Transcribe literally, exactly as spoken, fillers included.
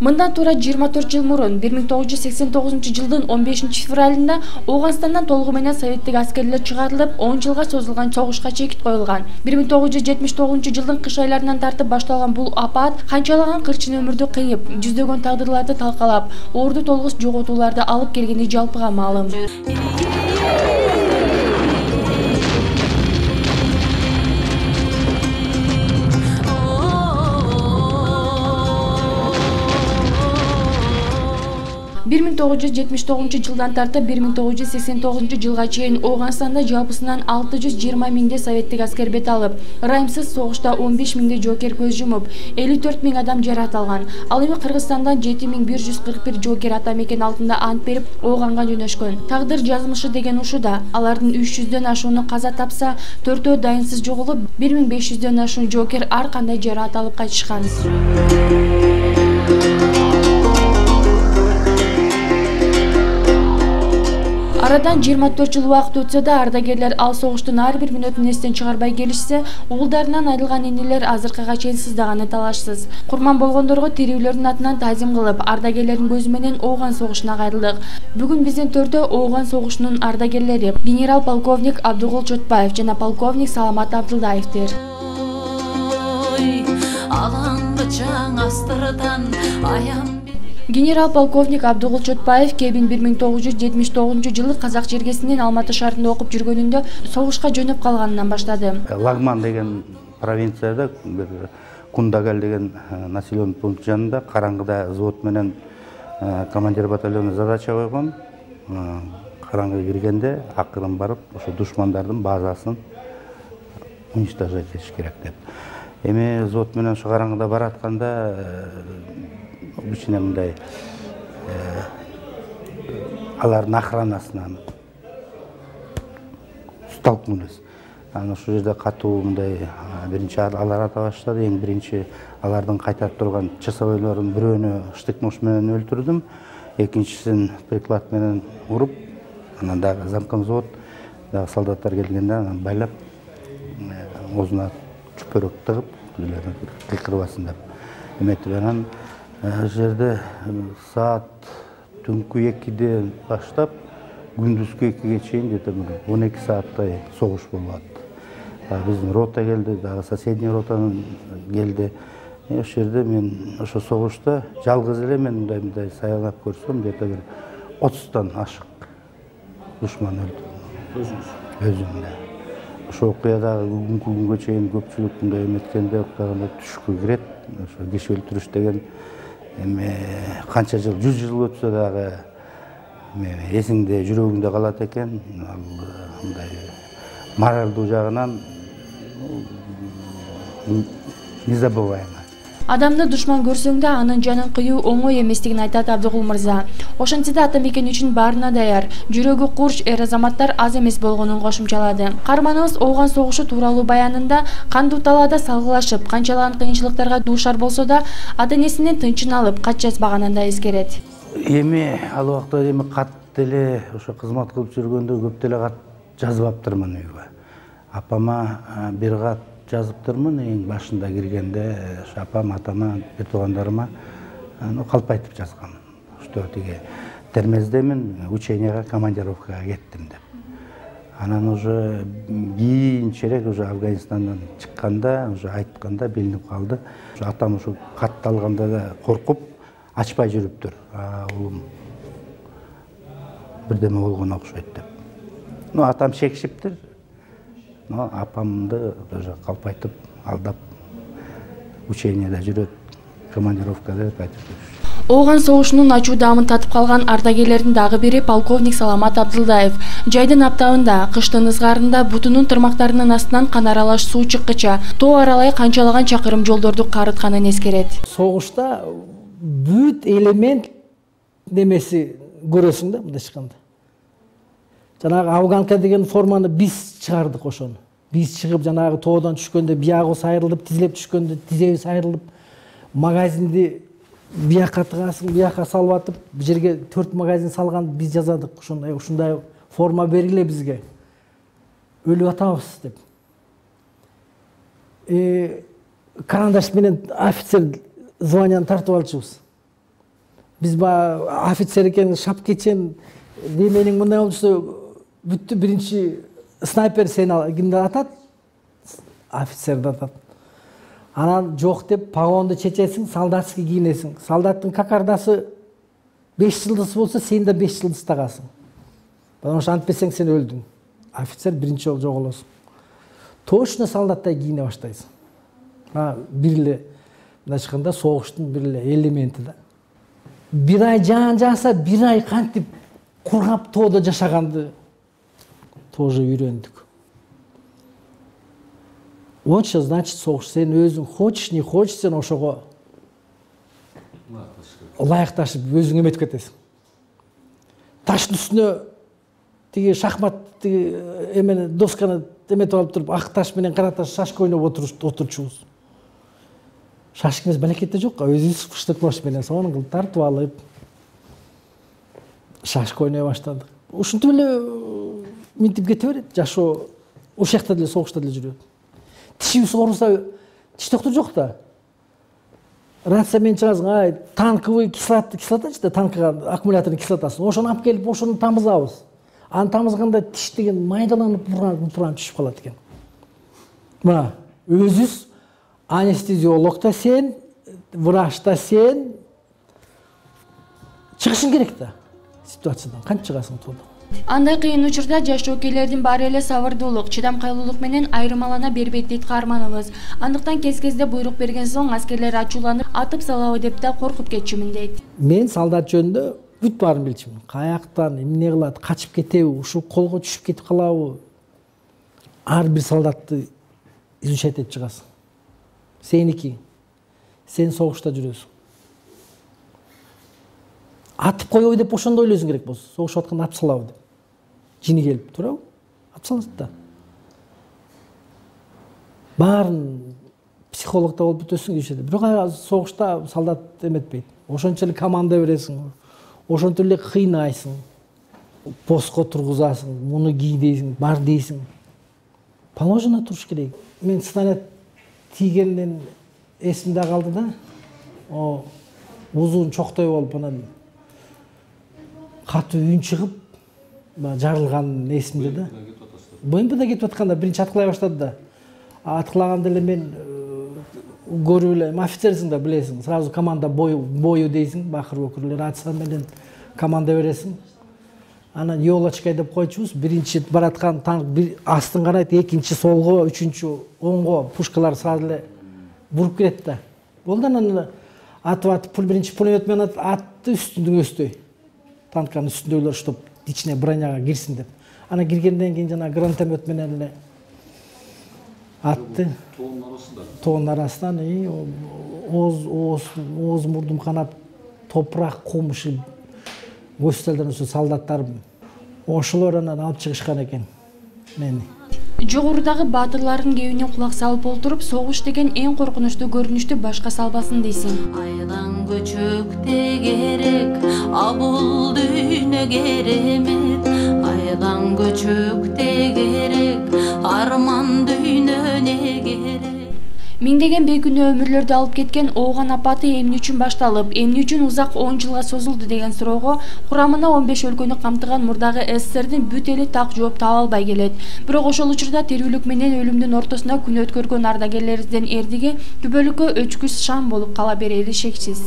Мындан туура жыйырма төрт жыл мурун бир миң тогуз жүз сексен тогузунчу жылдын он бешинчи февралында Ооганстандан толугу менен советтик аскерлер чыгарылып, он жылга созулган согушка чекит коюлган. бир миң тогуз жүз жетимиш тогузунчу жылдын кыш айларынан тартып башталган бул апат канчалаган кырчын өмүрдү кыйып, жүздөгөн тагдырларды талкалап, орду толгус жоготууларды алып келгени жалпыга маалым. бир миң тогуз жүз жетимиш тогузунчу жылдан тартып бир миң тогуз жүз сексен тогузунчу жылга чейин Ооганстанда жалпысынан алты жүз жыйырма миңдей советтик аскер бет алып, ырайымсыз согушта он беш миңдей жоокер көз жумуп, элүү төрт миң адам жаракат алган. Ал эми Кыргызстандан жети миң бир жүз кырк бир жоокер ата мекен алдында ант берип, Ооганга жөнөшкөн. Тагдыр жазмышы деген ушуда. Алардын үч жүздөн ашууну каза тапса, төртөө дайынсыз жоголуп, бир миң беш жүздөн ашуун жоокер ар кандай жаракат алып кайтышкан. Арадан жыйырма төрт жыл убакыт өтсө да, ардагерлер ал согуштун ар бир мүнөтүн эстен чыгарбай келишсе, уулдарынан айрылган инилер азыркыга чейин сыздаганы талашсыз. Курман болгондорго тирүүлөрдүн атынан таазим кылып, ардагерлердин көзү менен Ооган согушуна кайрылдык. Бүгүн биздин төрдө Ооган согушунун ардагерлери генерал-полковник Абдыгул Чотпаев жана полковник Саламат Абдылдаевдир. Генерал-полковник Абдыгул Чотпаев кебин бир миң тогуз жүз жетимиш тогузунчу жылы Казак жергесинин Алматы шаарында окуп жүргөнүндө согушка жөнөп калганынан баштады. Лагман деген провинцияда бир Кундагал деген населенный пункт жанында караңгыда взвод менен командир батальону задача койгон. Караңгы киргенде акырын барып, ошо душмандардын базасын уничтожать этиш керек деп. Эми взвод менен ошо караңгыда баратканда кичине мындай алардын охранасынан столкнулись. Анан ошол жерде катуу мындай биринчи алар ата баштады. Эң биринчи алардын кайтарып турган часовойлордун бирөөнү штык-нож менен өлтүрдүм. Экинчисин приклад менен уруп, анан дагы замком взвод, дагы солдаттар келгенде анан байлап, оозуна чүпөрөк тыгып, кыйкырбасын деп эметип, анан жерде саат түнкү экиден баштап күндүзгү экиге чейин где-то он эки сааттай согуш болуп атты. Биздин рота келди, дагы соседний ротанын келди. Ошол жерде мен ошо согушта жалгыз эле мен мындай мындай саялап көрсөм, где-то бир отуздан ашык душман өлтүрдүм. Өзүмдө. Ошо окуя дагы бүгүнкү күнгө чейин көпчүлүк мындай эметкенде уктаганда түшкө кирет. Ошо киши өлтүрүш деген эми канча жыл, жүз жыл өтсө дагы эсиңде, жүрөгүңдө калат экен. Ал мындай моралдуу жагынан незабываемо. Адамды душман көрсөң да анын жанын кыюу оңой эместигин айтат Абдыгул мырза. Ошентсе да ата мекен үчүн баарына даяр, жүрөгү курч эр азаматтар аз эмес болгонун кошумчалады. Каарманыбыз Ооган согушу тууралуу баянында кандуу талаада салгылашып, канчалаган кыйынчылыктарга дуушар болсо да, ата-энесинин тынчын алып, кат жазбаганын да эскерет. Эми ал убакта эми кат деле ошо кызмат кылып жүргөндө көп деле кат жазбаптырмын үйгө. Апама бир кат жазыптырмын эң башында киргенде, апам атама, бир туугандарыма калп айтып жазгам. Что тиги термездемин, ученияга, командировкага кеттим деп. Анан уже кийинчерээк уже Афганистандан чыкканда, уже айтканда билинип калды. Атам ушу катты алганда да коркуп, ачпай жүрүптүр. Улум бирдеме болгон окшойт деп. Ну, атам шекишиптир. Но апамды уже калп айтып, алдап, ученияда жүрөт, командировкада деп айтып жүрүш. Ооган согушунун ачуу даамын татып калган ардагерлердин дагы бири полковник Саламат Абдылдаев. Жайдын аптабында, кыштын ызгаарында бутунун тырмактарынын астынан кан аралаш суу чыккыча, тоо аралай канчалаган чакырым жолдорду карытканын эскерет. Согушта бүт элемент немеси көрөсүң да мындай чыкканда. Жанагы афганка деген форманы биз чыгардык ошону. Биз чыгып жанагы тоодон түшкөндө биягыбыз айрылып, тизилеп түшкөндө тизебиз айрылып, магазинди бияка тыгасың, бияка салып атып, бул жерге төрт магазин салган биз жазадык. Ушундай ушундай форма бериле бизге. Өлүп атабыз деп. Э карандаш менен офицер званияны тартып алчубуз. Биз баягы офицер экен, шапкечен, неменең мындай болсо бүттү, биринчи снайпер сени кимди атат? Офицерди атат. Анан жок деп погонду чечесиң, солдатский кийинесиң. Солдаттын кокардасы беш жылдыз болсо, сен да беш жылдыз тагасың. Потому что антпесең сен өлдүң. Офицер биринчи жолу жоголосуң. Точно солдаттай кийине баштайсың. Бир эле мындай айтканда согуштун бир эле элементи да. Бир ай жаан жааса, бир ай кантип кургап тоодо жашаганды тоже үйрөндүк. Онча значит согуш, сен өзүң хочешь, не хочешь, сен ошого ылайыкташып өзүң эметип кетесиң. Таштын үстүнө тиги шахмат тиги эмени досканы эметип алып туруп, ак таш менен кара таш шашка ойноп отурчубуз. Шашка эмес, балекет да жок, өзүбүз фыштык нож менен сонун кылып тартып алып шашка ойной баштадык. Ушинтип эле минтип кете берет, жашоо ошол жакта деле согушта деле жүрөт. Тишибиз ооруса, тиш доктор жок да. Рация менен чыгасың, ай, танковый кислота, кислотачы да, танкыга аккумулятордун кислотасын. Ошону алып келип, ошону тамызабыз. Аны тамызганда тиш деген майдаланып, буран түшүп калат экен. Мына, өзүбүз анестезиолог да сен, врач да сен чыгышың керек да ситуациядан. Кантип чыгасың тоодон? Андай кыйын учурда жаш жоокейлердин баары эле сабырдуулук, чыдамкайлуулук менен айырмалана бербейт дейт каарманыбыз. Андыктан кез-кезде буйрук берген соң аскерлер ачууланып, атып салабы деп да коркуп кетчүмүн дейт. Мен солдат жөнүндө бүт баарын билчүмүн. Каяктан эмне кылат, качып кетеби, ушу колго түшүп кетип калабы? Ар бир солдатты изучать этип чыгасың. Сеники. Сен согушта жүрөсүң. Атып коебу деп ошондо ойлойсуң керек болсо, согушуп атканда атып салабы деп. Жини келип, туурабы? Атып салат да. Баарын психологда болуп бүтөсүң дешет. Бирок согушта солдат эметпейт. Ошончо эле команда бересиң, ошончо эле кыйнайсың. Постко тургузасың, муну кий дейсиң, бар дейсиң. Положено туруш керек. Мен снаряд тийгенден эсимде калды да. О, узун чоктой болуп анан катуу үн чыгып, жарылган эсимде да. БМПда кетип атканда биринчи аткылай баштады да. Аткылаганда эле мен көрүп эле, офицерсиң да билесиң, сразу команда бою бою дейсиң, бакырып өкүрлөр рация менен команда бересиң. Анан елочкай деп койчубуз, биринчи бараткан танк бир астын карайт, экинчи солго, үчүнчү оңго пушкалар сразу эле буруп кирет да. Болду анан атып атып, пул биринчи пулемет менен атты үстүндүн өстөй. Танканын үстүндөгүлөр штоп ичине броняга кирсин деп. Анан киргенден кийин жана гранатомет менен эле атты. Тоонун арасында. Тоонун арасынан и ооз ооз ооз мурдум канап, топурак кум ушул госпиталдан ошо солдаттар ошолор анан алып чыгышкан экен мени. Жогорудагы баатырлардын кебине кулак салып олтуруп, согуш деген эң коркунучтуу көрүнүштү башка салбасын дейсиң. Айлан көчөктө керек, а бул дүйнө керемет. Айлан көчөктө керек, арман дүйнө не керек. Миңдеген бейкүнөө өмүрлөрдү алып кеткен Ооган апаты эмне үчүн башталып, эмне үчүн узак он жылга созулду деген суроого курамына он беш өлкөнү камтыган мурдагы СССРдин бүт эли так жооп таба албай келет. Бирок ошол учурда тирүүлүк менен өлүмдүн ортосуна күн өткөргөн ардагерлерибиздин эрдиги күбөлүккө өчкүс шам болуп кала берери шексиз.